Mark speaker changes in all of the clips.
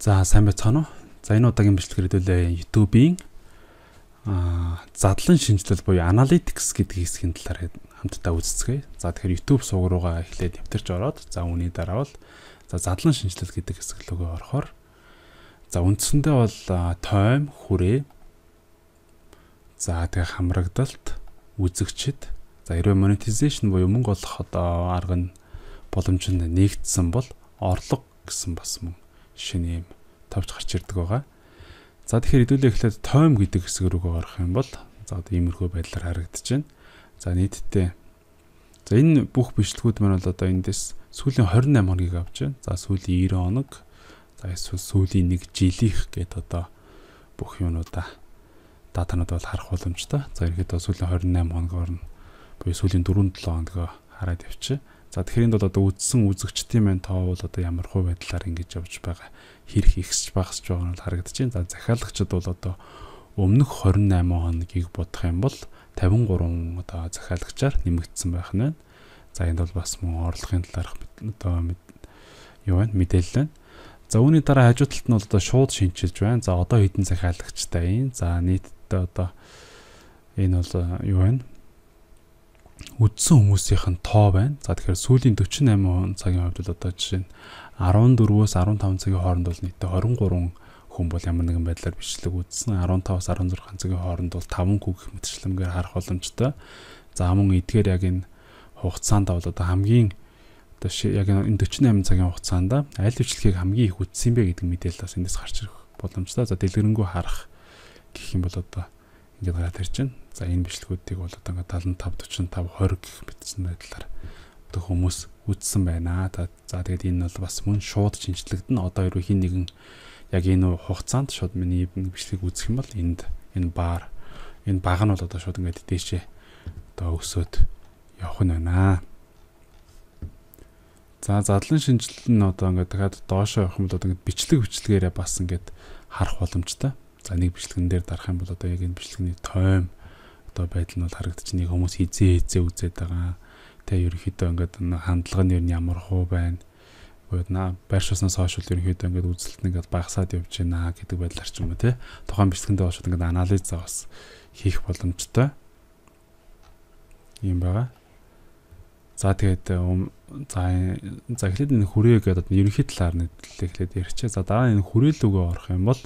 Speaker 1: За сайн байцгаана уу? За энэ удаагийн бичлэгээр хэдүүлээ YouTube-ийн задлан шинжилэл буюу Analytics гэдэг хэсгийн талаар хамтдаа үздэцгээе. За тэгэхээр YouTube сувг руугаа эхлээд нэвтэрч ороод за үүний дараа бол за задлан шинжилэл гэдэг хэсэг рүү орохоор за үндсэндээ бол тойм, хүрээ за тэгээ хамрагдалт, үзэгчд за хэрвээ monetization буюу мөнгө олох одоо арга нь боломж нь нэгдсэн бол орлого гэсэн бас мөн шинэ юм тавьж гарч ирдэг байгаа. За тэгэхээр хэдүүлээ эхлээд тойм гэдэг хэсэг рүү орох юм бол за одоо иймэрхүү байдлаар харагдаж байна. За нийтдээ за энэ бүх бичлэгүүд маань бол одоо эндээс сүүлийн 28 хоногийг авч байна. За сүүлийн 90 хоног за эсвэл сүүлийн 1 жилийнх гэдэг одоо бүх юмнуудаа датанууд бол харах боломжтой. За ерөнхийдөө сүүлийн 28 хоногоор нь буюу сүүлийн 4-7 хоногоо хараад явчих. За тэгэхээр энд бол одоо үдсэн үзэгчдийн маань тоо бол одоо ямар хувь байдлаар ингэж явж байгаа хэрэг ихсэж багасч байгаа нь харагдаж байна. За захиалагчид бол одоо өмнөх 28 хоногийг бодох юм бол 53 одоо захиалагчаар нэмэгдсэн байх нь байна. За энд бол бас мөн орлогын талаарх одоо юу вэ мэдээлэл байна. За үүний дараа хажуу талд нь бол одоо шууд шинжилж байна. За одоо хэдэн захиалагчтай юм. За нийтдээ одоо энэ бол юу вэ? Үдсэн хүмүүсийнх нь тоо байна. За тэгэхээр сүүлийн 48 цагийн хувьд бол одоо жишээ нь 14-өөс 15 цагийн хооронд бол нийтдээ 23 хүн бол ямар нэгэн байдлаар бичлэг үзсэн. 15-аас 16 цагийн хооронд бол 5 хүн гэх мэтчлэмгээр харах боломжтой. За мөн эдгээр яг энэ хугацаанд бол одоо хамгийн одоо яг энэ 48 цагийн хугацаанд аль бичлэгийг хамгийн их үзсэн бэ гэдэг мэдээлэл бас эндээс гарч ирэх боломжтой. За дэлгэрэнгүй харах гэх юм бол одоо ингээд гараад ирж байна. За энэ бичлэгүүдийг бол одоо ингээд 75 45 20 гэх мэтсэн байдлаар одоо хүмүүс үзсэн байна. За тэгээд энэ бол бас мөн шууд шинжлэгдэн одоо хэрвээ хин нэгэн яг энэ хугацаанд шууд миний бичлэгийг үзэх юм бол энэ баг нь бол одоо шууд ингээд дээшээ одоо өсөөд явах нь байна. За задлан шинжилэл нь одоо ингээд дахиад доошоо явах юм бол одоо ингээд бичлэгээрээ бас ингээд харах боломжтой. За нэг бичлэгэн дээр дарах юм бол одоо яг энэ бичлэгний тойм одоо байдал нь бол харагдаж нэг хүмүүс хизээ үзээд байгаа. Тэ ерөнхийдөө ингээд хандлага нь ер нь ямар хуу байна. Байршуулснаас хойш ерөнхийдөө ингээд үзэлт нь ингээд багасаад явж байна гэдэг байдлаар ч юм уу те. Тухайн бичлэгэндээ очоод ингээд анализ бас хийх боломжтой. Ийм байгаа. За тэгээд за эхлээд энэ хүрээ гэдэг ерөнхий талаар нь эхлээд ярьчаа. За дараа энэ хүрээлүүгөө орох юм бол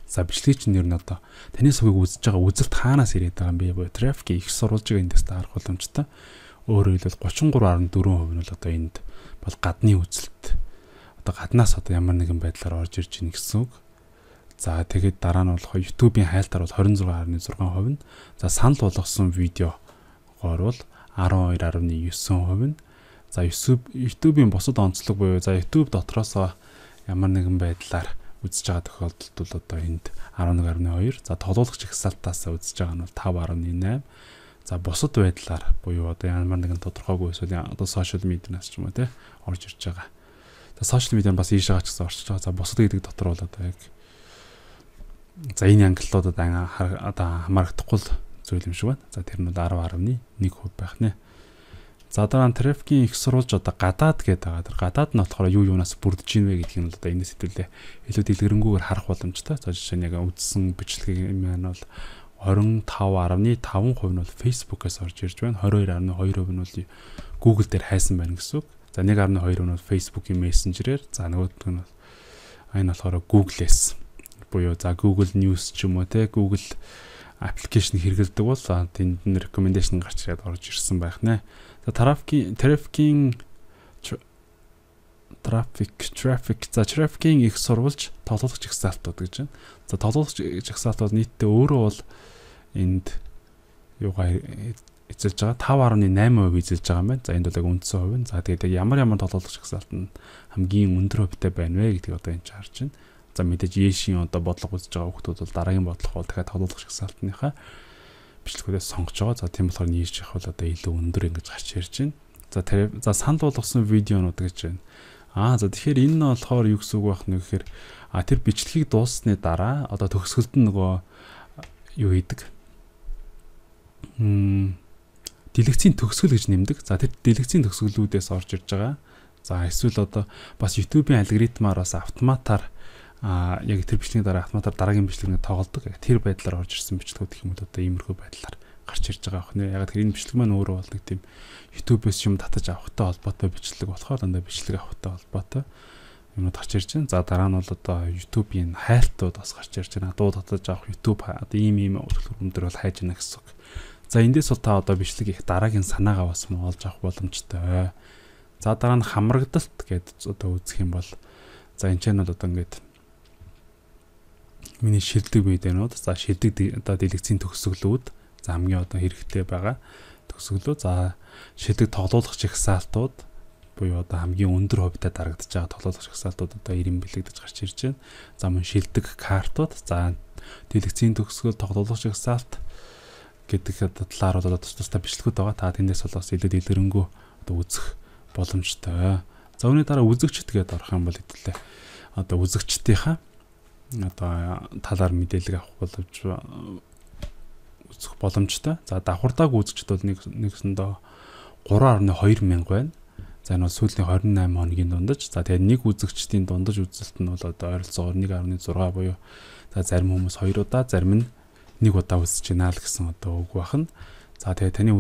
Speaker 1: за бичлэгч нь ер нь одоо таны сувгийг үзэж байгаа үзэлт хаанаас ирээд байгаа юм бэ? Буюу трафик их сурвалж байгаа эндээс харах боломжтой. Өөрөөр хэлбэл 33.4% нь бол одоо энд бол гадны үзэлт. Одоо гаднаас одоо ямар нэгэн байдлаар орж ирж ийн гэсэн үг. За тэгээд дараа нь болох YouTube-ийн хайлтаар бол 26.6% нь. За санал болгосон видеогоор бол 12.9% нь. За YouTube-ийн бусад онцлог буюу за YouTube дотроос ямар нэгэн байдлаар үзэж байгаа тохиолдолд бол одоо энд 11.2. За тоглоулагч ихсалтаас үзэж байгаа нь бол 5.8. За бусад байдлаар буюу одоо ямар нэгэн тодорхойгүй эсвэл одоо сошиал медианаас ч юм уу те орж ирж байгаа. За сошиал медиа бас ийшээ гачсан орчиж байгаа. За бусад гэдэг дотор бол одоо яг за энэ ангиллуудад одоо хамаарахгүй зүйл юм шиг байна. За тэр нь бол 10.1% байх нэ. За дараа нь трафикийн их сурвалж одоо гадаад гэдэг байгаа. Тэр гадаад нь болохоор юунаас бүрдэж ийн вэ гэдгийг нь одоо энэс хэдүүлээ илүү дэлгэрэнгүйгээр харах боломжтой. За жишээ нь яг үзсэн бичлэгийн маань бол 25.5% нь бол Facebook-аас орж ирж байна. 22.2% нь бол Google дээр хайсан байна гэсэн үг. За 1.2% нь бол Facebook-ийн Messenger-ээр, за нөгөөх нь энэ болохоор Google-ээс буюу за Google News ч юм уу те Google аппликейшн хэрэглэдэг бол тэнд нь recommendation гарч ирээд орж ирсэн байх нэ. За трафикийн их сурвалж тоглоулагч ихсаалтууд гэж байна. За тоглоулагч ихсаалтууд нийтдээ өөрөө бол энд юугаар эзэлж байгаа 5.8% эзэлж байгаа юм байна. За энд бол яг үндсэн хувь нь. За тэгээд ямар тоглоулагч ихсаалт нь хамгийн өндөр хувьтай байна вэ гэдгийг одоо энэ харж байна. За мэдээж Яшийн одоо бодлого үзэж байгаа хүмүүс бол дараагийн бодлого бол дахиад тоглоулагч ихсаалтныхаа бичлэгүүдээс сонгож байгаа. За тийм болохоор нийш их бол одоо илүү өндөр ингэж гарч ирж байна. За санал болгосон видеонууд гэж байна. За тэгэхээр энэ нь болохоор юу гэсэн үг байх нь гэхээр тэр бичлэгийг дууссаны дараа одоо төгсгөлд нь нөгөө юу хийдэг? Дэлгэцийн төгсгөл гэж нэмдэг. За тэр дэлгэцийн төгсгөлүүдээс орж ирж байгаа. За эсвэл одоо бас YouTube-ийн алгоритмаар бас автоматар яг тэр бичлэгийн дараа автоматар дараагийн бичлэгийг тоглодог. Тэр байдлаар орж ирсэн бичлэгүүд гэх юм бол одоо иймэрхүү байдлаар гарч ирж байгаа ах нэ. Яг тэр энэ бичлэг маань өөрөө бол нэг тийм YouTube-с юм татаж авахтай холбоотой бичлэг болохоор дандаа бичлэг авахтай холбоотой юмуд гарч ирж байна. За дараа нь бол одоо YouTube-ийн хайлтууд бас гарч ирж байна. Дуу татаж авах YouTube одоо ийм өтөлбөр бол хайж байна гэсэн үг. За эндээс бол та одоо бичлэг их дараагийн санаагаа бас олж авах боломжтой. За дараа нь хамрагдалт гэдэг одоо үзэх юм бол за энэ ч нь бол одоо ингээд миний шилдэг видеонууд за шилдэг одоо дэлгэцийн төгсгөлүүд за хамгийн одоо хэрэгтэй байгаа төгсгөлөө за шилдэг тоглоулах жагсаалтууд буюу одоо хамгийн өндөр хувьтай дарагдж байгаа тоглоулах жагсаалтууд одоо 90 бэлэгдэж гарч ирж байна. За мөн шилдэг картууд за дэлгэцийн төгсгөл тоглоулах жагсаалт гэдэг талаар бол тусдаа бичлэгүүд байгаа. Та тэндээс бол бас илүү дэлгэрэнгүй одоо үзэх боломжтой. За үүний дараа үзэгчд гэдээ орох юм бол хэвлээ одоо үзэгчдийнхаа одоо талаар мэдээлэл авах боломж үзэх боломжтой. За давхардааг үзэгчд бол нэгсэндээ 3.2 мянга байна. За энэ бол сүүлийн 28 хоногийн дундаж. За тэгээд нэг үзэгчдийн дундаж үзэлт нь бол одоо ойролцоогоор 1.6 буюу за зарим хүмүүс 2 удаа, зарим нь 1 удаа үзэж байна л гэсэн одоо үг байна. За тэгээд таны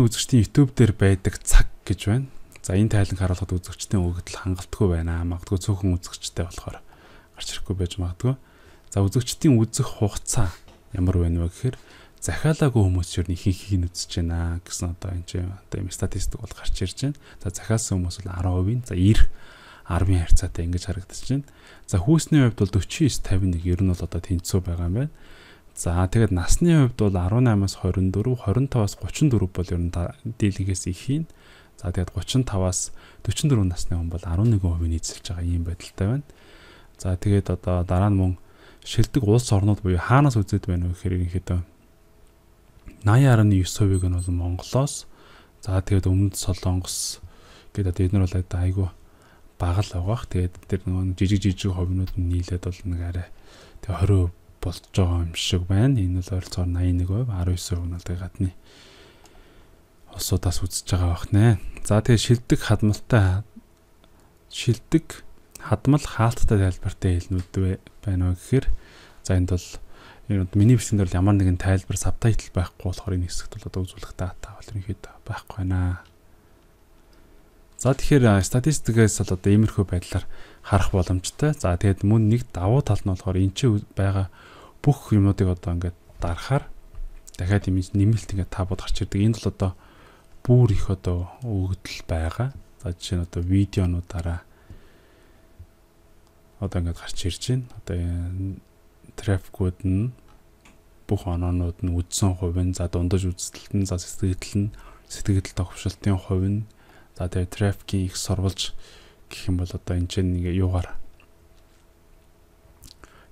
Speaker 1: үзэгчдийн YouTube дээр байдаг цаг гэж байна. За энэ тайланг харуулхад үзэгчдийн өгөгдөл хангалтгүй байна. Магадгүй цөөхөн үзэгчтэй болохоор гарч ирэхгүй байж магадгүй. За үзэгчдийн үзэх хугацаа ямар байна вэ гэхээр захиалаагүй хүмүүс юу ихэнх үзэж байна гэсэн одоо энэ чинь одоо юм статистик бол гарч ирж байна. За захиалсан хүмүүс бол 10%, за 90-10-ын харьцаатай ингэж харагдаж байна. За хүйсний хувьд бол 49-51 ер нь бол одоо тэнцүү байгаа юм байна. За тэгээд насны хувьд бол 18-аас 24, 25-аас 34 бол ер нь дийлэнхээс их юм. За тэгээд 35-аас 44 насны хүн бол 11% эзэлж байгаа ийм байдалтай байна. За тэгээд одоо дараа нь мөн шилдэг улс орнууд буюу хаанаас үзээд байна вэ гэхээр ерөнхийдөө 80.9%-ийг нь бол Монголоос, за тэгээд Өмнөд Солонгос гэдэг эдгээр бол айгүй бага л байгаах. Тэгээд тэр нөгөө жижиг хувинууд нь нийлээд бол нэг арай тэг 20% болж байгаа юм шиг байна. Энэ бол ойролцоогоор 81%, 19% нь бол гадны улсуудаас үзэж байгаа бах нэ. За тэгээд шилдэг хадмал хаалттай тайлбартай хэлнүүд байна вэ гэхээр за энд бол миний бичлэгт бол ямар нэгэн тайлбар сабтайтл байхгүй болохоор энэ хэсэгт бол одоо үзүүлэх дата бол ерөнхийдөө байхгүй байна. За тэгэхээр статистикээс бол одоо иймэрхүү байдлаар харах боломжтой. За тэгээд мөн нэг давуу тал нь болохоор энэ чинь байгаа бүх юмнуудыг одоо ингээд дарахаар дахиад нэмэлт ингээд табууд гарч ирдэг. Энд бол одоо бүр их одоо өгөгдөл байгаа. За жишээ нь одоо видеонуудаараа одоо ингээд гарч ирж байна. Одоо трафикууд нь бүх оноонууд нь үдсэн хувь нь за дундаж үзэлт нь за сэтгэл тохиолдлын хувь нь за тэгээд трафикийн их сурвалж гэх юм бол одоо энэ чинь нэг юугаар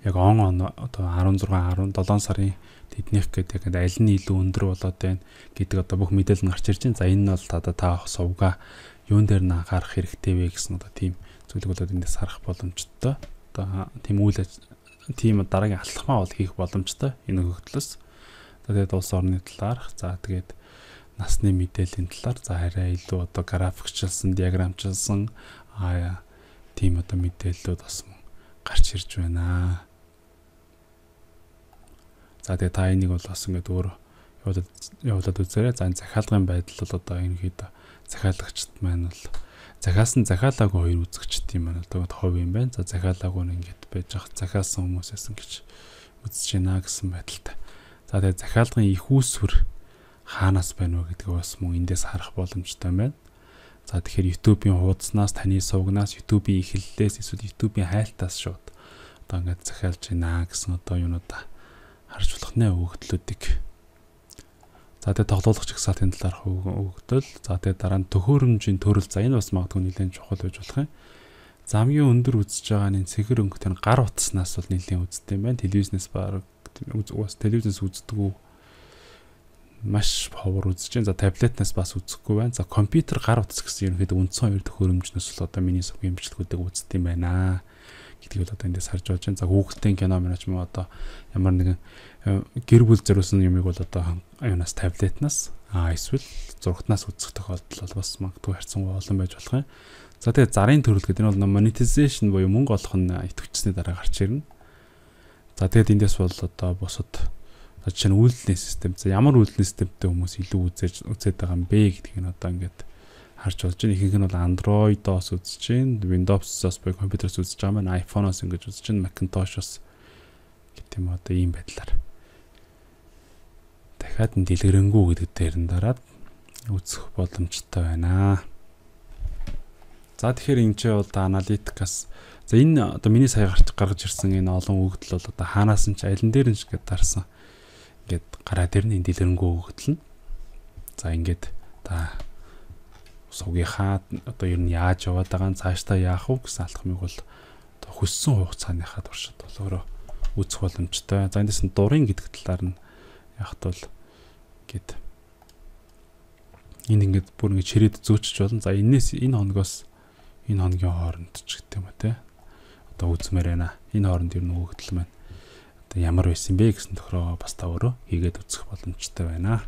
Speaker 1: яг одоо 16 17 сарын тэднийх гэдэг аль нь илүү өндөр болоод байна гэдэг одоо бүх мэдээлэл нь гарч ирж байна. За энэ нь бол та сувга юун дээр нь анхаарах хэрэгтэй вэ гэсэн одоо тийм зүйлийг болоод эндээс харах боломжтой. Одоо тийм дараагийн алхмаа бол хийх боломжтой энэ өгөгдлөөс. Тэгээд улс орны талаарх за тэгээд насны мэдээллийн талаар за арай илүү одоо графикчилсан, диаграмчилсан тийм одоо мэдээллүүд бас гарч ирж байна. За тэгээд та энийг бол бас ингээд өөр явуулаад үзээрэй. За энэ захиалгын байдал бол одоо ерөнхийдөө захиалагчд маань бол захиалаагүй 2 үзэгчд юм байна. Тэгээд хувь юм байна. За захиалаагүй нь ингээд байж байгаа захиалсан хүмүүсээс ингэж үзэж байна гэсэн байдалтай. За тэгээд захиалгын их үүсвэр хаанаас байна вэ гэдгийг бас мөн эндээс харах боломжтой байна. За тэгэхээр YouTube-ийн хуудаснаас, таны сувгнаас, YouTube-ийн эхлэлээс эсвэл YouTube-ийн хайлтаас шууд одоо ингээд захиалж байна гэсэн одоо юунуудаа харж болох нэ өгөгдлүүдийг. За тэгээд тоглоулах жагсаалтын талаарх өгөгдөл. За тэгээд дараа нь төхөөрөмжийн төрөл. За энэ бас магадгүй нэлээд чухал байж болох юм. За хамгийн өндөр үзэж байгаа нь цэгэр өнгөтэй гар утаснаас бол нэлээд үздэг юм байна. Телевизнээс баг телевизнээс үздэг маш ховор үзэж байна. За таблетнаас бас үзэхгүй байна. За компьютер гар утас гэсэн ерөнхийдөө үндсэн 2 төхөөрөмжнөөс л одоо миний сувгийн бичлэгүүдийг үздэг юм байна гэдгийг одоо эндээс харж болж байна. За Google-ийн кино минач мөн одоо ямар нэгэн гэр бүл зориулсан юмыг бол одоо юунаас таблетнаас Эсвэл зурагтнаас үзэх тохиолдол бол бас магадгүй харьцангуй олон байж болох юм. За тэгээд зарын төрөл гэдэг нь бол monetization буюу мөнгө олох нь идэвхжсэний дараа гарч ирнэ. За тэгээд эндээс бол одоо бусад жишээ нь үйлдлийн систем. За ямар үйлдлийн системтэй хүмүүс илүү үзээд байгаа юм бэ гэдгийг нь одоо ингээд харж болж байна. Ихэнх нь бол Android-оос үзэж байна, Windows-оос буюу компьютероос үзэж байгаа маань iPhone-оос ингэж үзэж байна, Macintosh-оос гэдэг юм одоо ийм байдлаар. Дахиад нь дэлгэрэнгүй гэдэг дээр нь дараад үзэх боломжтой байна. За тэгэхээр энэ ч бол аналитикаас за энэ одоо миний сая гаргаж ирсэн энэ олон өгөгдөл бол одоо хаанаас нь ч алин дээр нь ч гэдээ дарсан. Ингээд гараад ирнэ энэ дэлгэрэнгүй өгөгдөл нь. За ингээд та сувгийнхаа одоо ер нь яаж яваад байгаа нь цаашдаа яах вэ гэсэн алхмыг бол одоо хөссөн хугацааныхаа туршид бол өөрөө үзэх боломжтой. За эндээс нь дурын гэдэг талаар нь яхад бол гээд энэ ингээд бүр ингээд чирээд зөөчж болно. За энэс энэ хоногоос энэ хоногийн хооронд ч гэдэг юм а те. Одоо үзмээр байна. Энэ хооронд ер нь өгөгдөл маань одоо ямар байсан бэ гэсэн тохироо бас та өөрөө хийгээд үзэх боломжтой байна.